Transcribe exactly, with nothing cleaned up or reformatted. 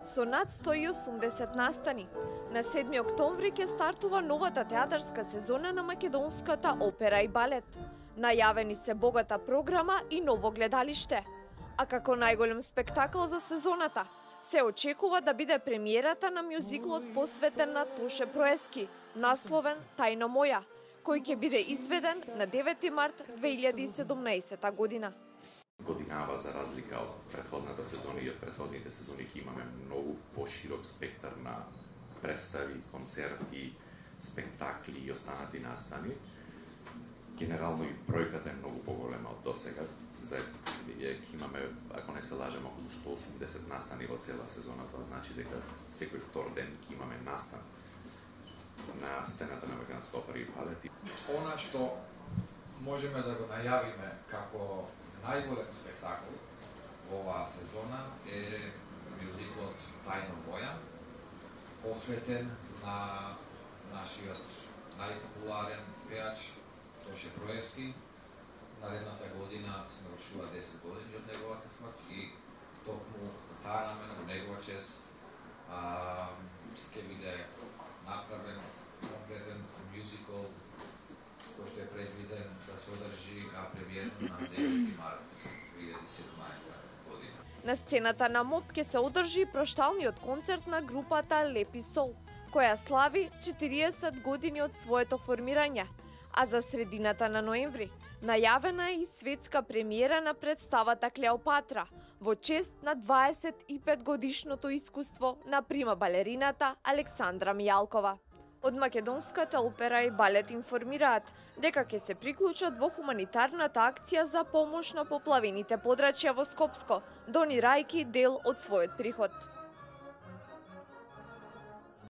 Со над сто и осумдесет настани, на седми октомври ќе стартува новата театарска сезона на македонската опера и балет. Најавени се богата програма и ново гледалиште. А како најголем спектакл за сезоната, се очекува да биде премиерата на мюзиклот посветен на Тоше Проески, насловен Тајна моја, кој ќе биде изведен на девети март две илјади и седумнаесета година. Годинава, за разлика од претходната сезона и од претходните сезони, ќе имаме многу поширок спектар на представи, концерти, спектакли и останати настани. Генерално и бројката е многу поголема од досега. За ќе имаме, ако не се лажем, околу сто и осумдесет настани во цела сезона. Тоа значи дека секој втор ден ќе имаме настан на сцената на македонска опера и балет. Она што можеме да го најавиме како најголем спектакл во оваа сезона е мюзиклот Тајна моја, посветен на нашиот најпопуларен пеач Тоше Проески. Наредната година се навршува десет години од неговата смрт и токму за таа намена, во негова чест, ќе биде направен комплетен мюзикл кој што е предвиден да се одржи премиерно на девети март две илјади и седумнаесета година. На сцената на МОП ќе се одржи прошталниот концерт на групата Лепи Сол, која слави четириесет години од своето формирање, а за средината на ноември најавена е и светска премиера на представата Клеопатра во чест на дваесет и пет годишното искуство на прима балерината Александра Мијалкова. Од македонската опера и балет информираат дека ќе се приклучат во хуманитарната акција за помош на поплавените подрачја во Скопско, донирајќи дел од својот приход.